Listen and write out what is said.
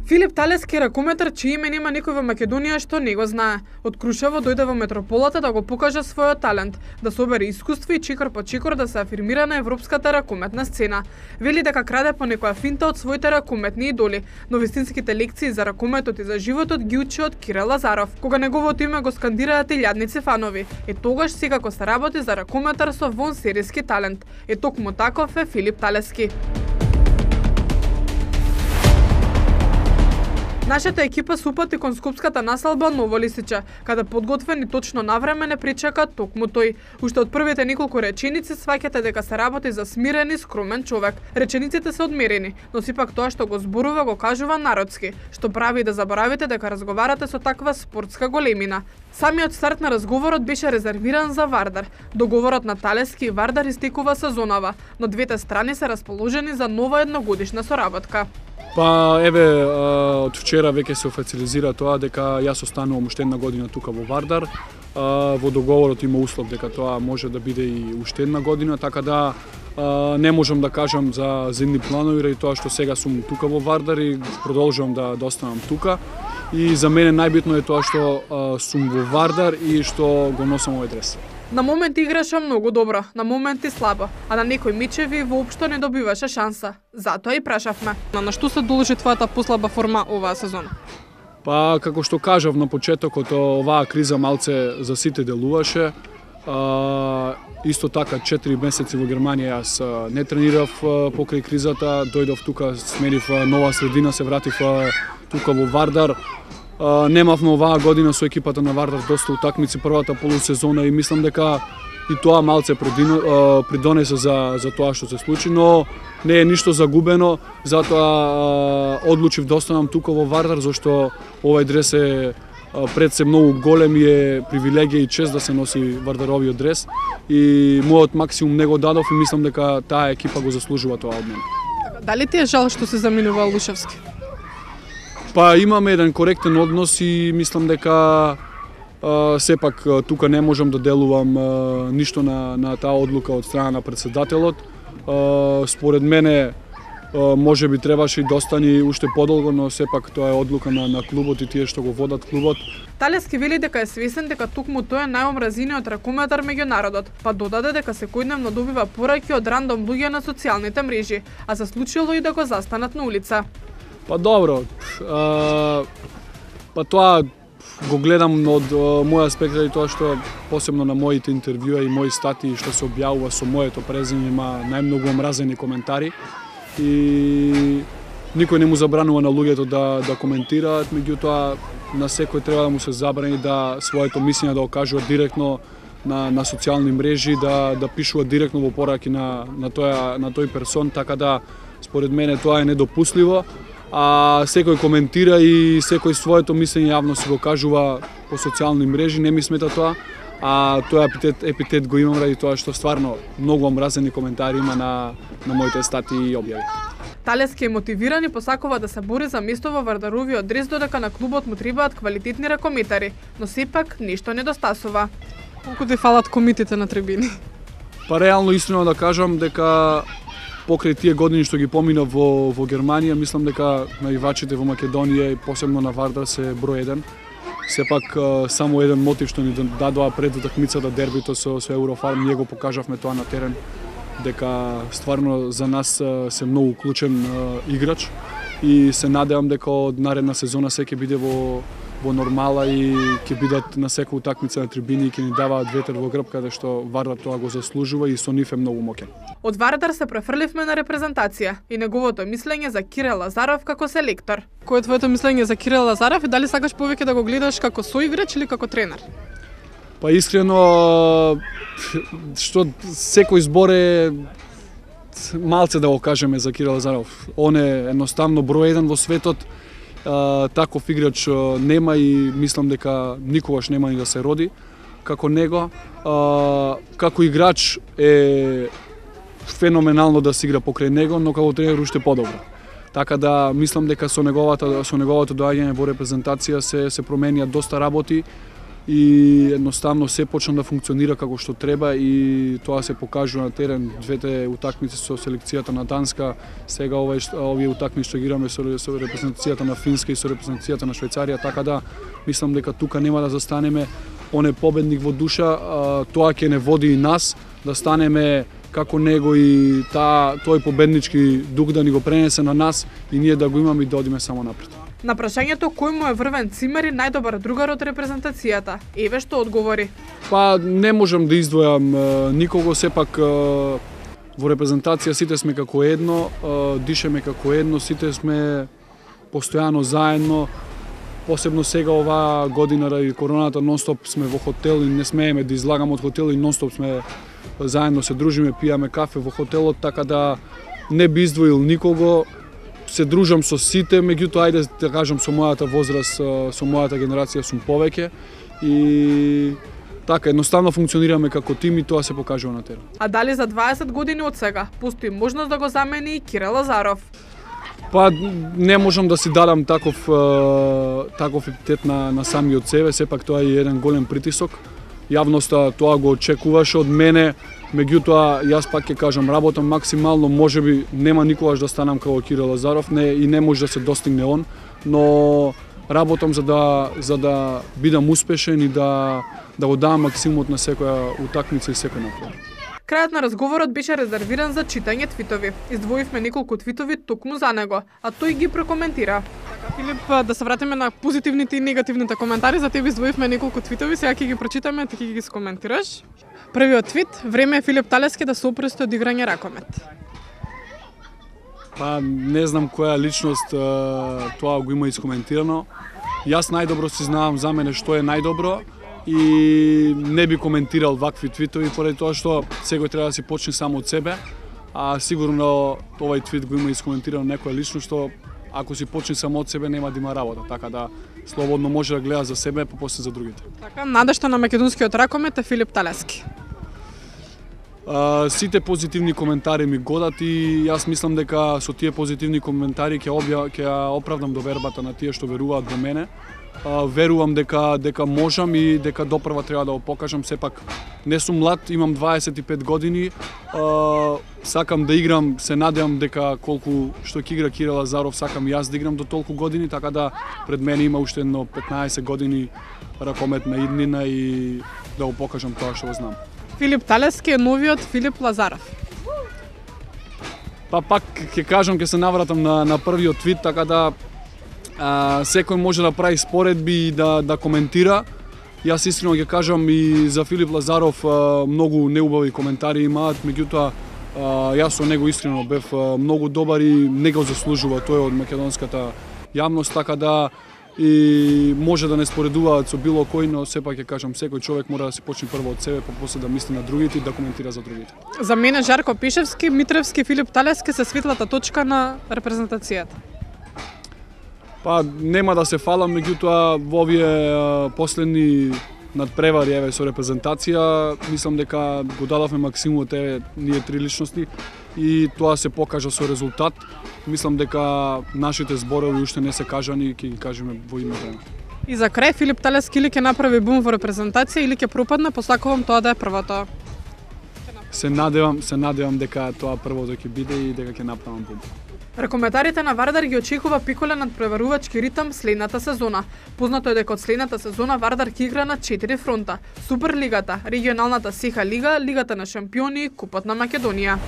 Филип Талески е ракометар чие име нема никој во Македонија што не го знае. Од Крушево дојде во метрополата да го покаже својот талент, да собере искуство и чекор по чекор да се афирмира на европската ракометна сцена. Вели дека краде по некоја финта од своите ракометни идоли, но вистинските лекции за ракометот и за животот ги учи од Кирил Лазаров, кога неговото име го скандираат илјадници фанови. Тогаш секако се работи за ракометар со вонсериски талент. Токму таков е Филип Талески. Нашата екипа се упати кон скопската населба Ново Лисиче, каде подготвени точно навреме не причака токму тој. Уште од првите неколку реченици сваќате дека се работи за смирен и скромен човек. Речениците се одмерени, но сепак тоа што го зборува го кажува народски, што прави да заборавите дека разговарате со таква спортска големина. Самиот старт на разговорот беше резервиран за Вардар. Договорот на Талески и Вардар истекува сезонава, но двете страни се расположени за нова едногодишна соработка. Па еве од вчера веќе се официализира тоа дека јас останувам уште една година тука во Вардар. Во договорот има услов дека тоа може да биде и уште една година, така да не можам да кажам за зимни планови, ради тоа што сега сум тука во Вардар и продолжувам да останам тука. И за мене најбитно е тоа што сум во Вардар и што го носам овој дрес. На моменти играше многу добро, на моменти слабо, а на некои мечеви воопшто не добиваше шанса. Затоа и прашавме. На што се должи твојата послаба форма оваа сезона? Па, како што кажав на почетокот, оваа криза малце за сите делуваше. Исто така 4 месеци во Германија јас не тренирав покрај кризата, дојдов тука, сменив нова средина, се вратив тука во Вардар. Немавме оваа година со екипата на Вардар доста утакмици првата полусезона и мислам дека и тоа малце придонесе за тоа што се случи, но не е ништо загубено, затоа одлучив да останам тука во Вардар, зашто овој дрес е пред се многу голем и е привилегија и чест да се носи Вардаровиот дрес и мојот максимум не го дадов и мислам дека таа екипа го заслужува тоа од мене. Дали ти е жал што се заминува Лушевски? Па имаме еден коректен однос и мислам дека сепак тука не можам да делувам ништо на таа одлука од страна на претседателот. Според мене може би требаше и да остане уште подолго, но сепак тоа е одлука на клубот и тие што го водат клубот. Талески вели дека е свесен дека токму тој е најомразениот ракометар меѓу народот, па додаде дека секојдневно добива пораки од рандом луѓе на социјалните мрежи, а се случило и да го застанат на улица. Па добро, па тоа го гледам од мој аспект и тоа што посебно на моите интервјуа и мои статии што се објавува со моето презиме има најмногу омразени коментари и никој не му забранува на луѓето да коментираат, меѓутоа на секој треба да му се забрани да своето мислење да го кажува директно на социјални мрежи, да пишува директно во пораки на тој персон, така да според мене тоа е недопустливо. А секој коментира и секој своето мислење јавно си го кажува по социјални мрежи, не ми смета тоа, а тој епитет го имам ради тоа што стварно многу омразени коментари има на моите статии и објави. Талески е мотивиран и посакува да се бори за место во Вардаровиот дрес, додека на клубот му требаат квалитетни ракометари, но сепак ништо недостасува. Колку ти фалат комитите на трибини? Па реално искрено да кажам дека покрај тие години што ги поминав во Германија, мислам дека наивачите во Македонија и посебно на Вардар се број 1. Сепак само еден мотив што ни дадоа пред утакмицата дербито со Еврофарм, ние го покажавме тоа на терен, дека стварно за нас се многу клучен играч и се надевам дека од наредна сезона се ќе биде во нормала и ќе бидат на секоја утакмица на трибини и ќе ни даваат ветер во грб, каде што Вардар тоа го заслужува и со нив е многу моќен. Од Вардар се префрливме на репрезентација и неговото мислење за Кирил Лазаров како селектор. Кој е твоето мислење за Кирил Лазаров и дали сакаш повеќе да го гледаш како соиграч или како тренер? Па искрено, што секој збор е малце да го кажеме за Кирил Лазаров. Он е едноставно број 1 во светот. Таков играч нема и мислам дека никогаш нема ни да се роди како него. Како играч е феноменално да се игра покрај него, но како тренер уште подобро. Така да мислам дека со неговото доаѓање во репрезентација се променија доста работи. и едноставно се почна да функционира како што треба и тоа се покажува на терен. Двете утакмици со селекцијата на Данска, сега овие утакмици што играме со репрезентацијата на Финска и со репрезентацијата на Швајцарија, така да мислам дека тука нема да застанеме. Он е победник во душа, тоа ќе не води и нас да станеме како него и тој победнички дух да ни го пренесе на нас и ние да го имаме и да одиме само напред. На прашањето кој му е Врвен Цимери најдобар другар од репрезентацијата, еве што одговори. Па не можам да издвојам никого, сепак во репрезентација сите сме како едно, дишеме како едно, сите сме постојано заедно. Посебно сега оваа година ради короната нонстоп сме во хотел и не смееме да излагаме од хотел и нонстоп сме заедно се дружиме, пијаме кафе во хотелот, така да не би издвоил никого. Се дружам со сите, меѓутоа ајде да кажам со мојата возраст, со мојата генерација сум повеќе и така едноставно функционираме како тим и тоа се покажува на терен. А дали за 20 години од сега постои можност да го замени и Кирил Лазаров? Па не можам да си дадам таков епитет на самиот себе, сепак тоа е еден голем притисок. Јавноста тоа го очекуваше од мене, меѓутоа јас пак ќе кажам работам максимално, можеби нема никогаш да станам како Кирил Лазаров, и не може да се достигне он, но работам за да бидам успешен и да го дам максимумот на секоја утакмица и секој напор. Крајот на разговорот беше резервиран за читање твитови. Издвоивме неколку твитови токму за него, а тој ги прокоментира. Филип, да се вратиме на позитивните и негативните коментари, за тебе издвоивме неколку твитови, сега ќе ги прочитаме, ти ќе ги скоментираш. Првиот твит: време е Филип Талески да се опрести од играње ракомет. Па не знам која личност тоа го има искоментирано. Јас најдобро си знавам за мене што е најдобро и не би коментирал вакви твитови поради тоа што секој треба да си почне само од себе, а сигурно овај твит го има искоментирано некоја личност што ако си почне само од себе нема да има работа, така да слободно може да гледа за себе, па после за другите. Така, надежта на македонскиот ракомет е Филип Талески. Сите позитивни коментари ми годат и јас мислам дека со тие позитивни коментари ќе оправдам довербата на тие што веруваат во мене. Верувам дека можам и дека допрва треба да го покажам, сепак не сум млад, имам 25 години, сакам да играм, се надевам дека колку што ќе игра Кирил Лазаров, сакам јас да играм до толку години, така да пред мене има уште едно 15 години ракометна иднина и да го покажам тоа што го знам. Филип Талески е новиот Филип Лазаров. Па пак ќе кажам, ќе се навратам на првиот твит, така да секој може да прави споредби и да коментира. Јас искрено ќе кажам и за Филип Лазаров многу неубави коментари имаат, меѓутоа јас со него искрено бев многу добар и не го заслужува тој од македонската јавност, така да и може да не споредуваат со било кој, но сепак ќе кажам секој човек мора да се почне прво од себе, па после да мисли на другите и да коментира за другите. За мене Жарко Пишевски, Митревски, Филип Талески се светлата точка на репрезентацијата. Па нема да се фалам, меѓутоа во овие последни надпревари еве со репрезентација, мислам дека го дадовме максимумот еве ние три личности и тоа се покажа со резултат. Мислам дека нашите зборови уште не се кажани и ќе ги кажеме во име време. И за крај Филип Талески или ќе направи бум во репрезентација или ќе пропадне, посакувам тоа да е првото. Се надевам дека тоа првото ќе биде и дека ќе направам бум. Ракометарите на Вардар ги очекува пиколен надпреварувачки ритам следната сезона. Познато е дека од следната сезона Вардар ќе игра на 4 фронта: Суперлигата, регионалната СИХА лига, Лигата на шампиони и Купот на Македонија.